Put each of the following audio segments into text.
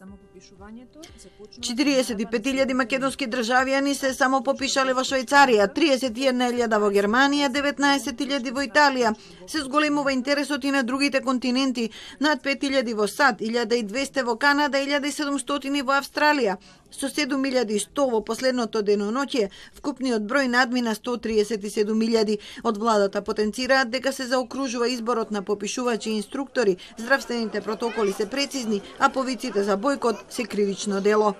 45.000 македонски државјани се самопопишале во Швајцарија, 31.000 во Германија, 19.000 во Италија. Се зголемува интересот и на другите континенти, над 5.000 во САД, 1.200 во Канада, 1.700 во Австралија. Со 7.100 во последното деноноќе, вкупниот број надмина 137.000. Од владата потенцираат дека се заокружува изборот на попишувачи и инструктори, здравствените протоколи се прецизни, а повиците за бојкот се кривично дело.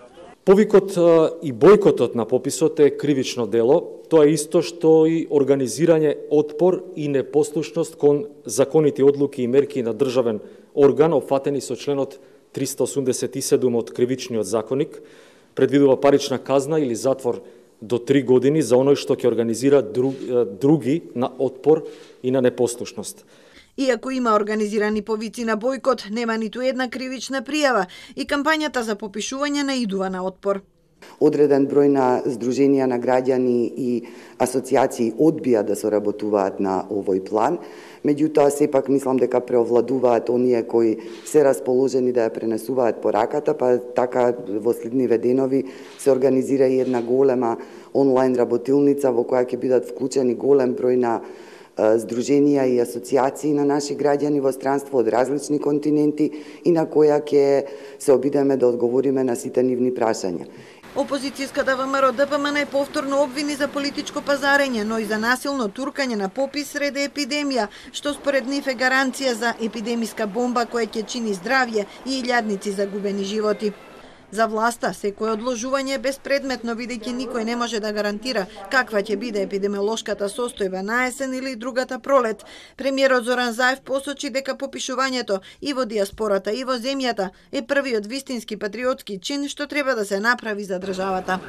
Повикот и бојкотот на пописот е кривично дело. Тоа е исто што и организирање отпор и непослушност кон законити одлуки и мерки на државен орган, опфатени со членот 387 од Кривичниот законник, предвидува парична казна или затвор до 3 години за оној што ќе организира други на отпор и на непослушност. Иако има организирани повици на бојкот, нема ниту една кривична пријава и кампањата за попишување наидува на отпор. Одреден број на здруженија на граѓани и асоцијации одбија да соработуваат на овој план, меѓутоа сепак мислам дека преовладуваат оние кои се расположени да ја пренесуваат пораката, па така во следниве денови се организира и една голема онлайн работилница во која ќе бидат вклучени голем број на здруженија и асоцијации на наши граѓани во странство од различни континенти и на која ќе се обидеме да одговориме на сите нивни прашања. Опозицијската ВМРО ДПМН е повторно обвини за политичко пазарење, но и за насилно туркање на попис среде епидемија, што според нив е гаранција за епидемиска бомба која ќе чини здравје и илјадници загубени животи. За власта, секој одложување е беспредметно, бидејќи никој не може да гарантира каква ќе биде епидемиолошката состојба на есен или другата пролет. Премиерот Зоран Заев посочи дека попишувањето и во диаспората и во земјата е првиот вистински патриотски чин што треба да се направи за државата.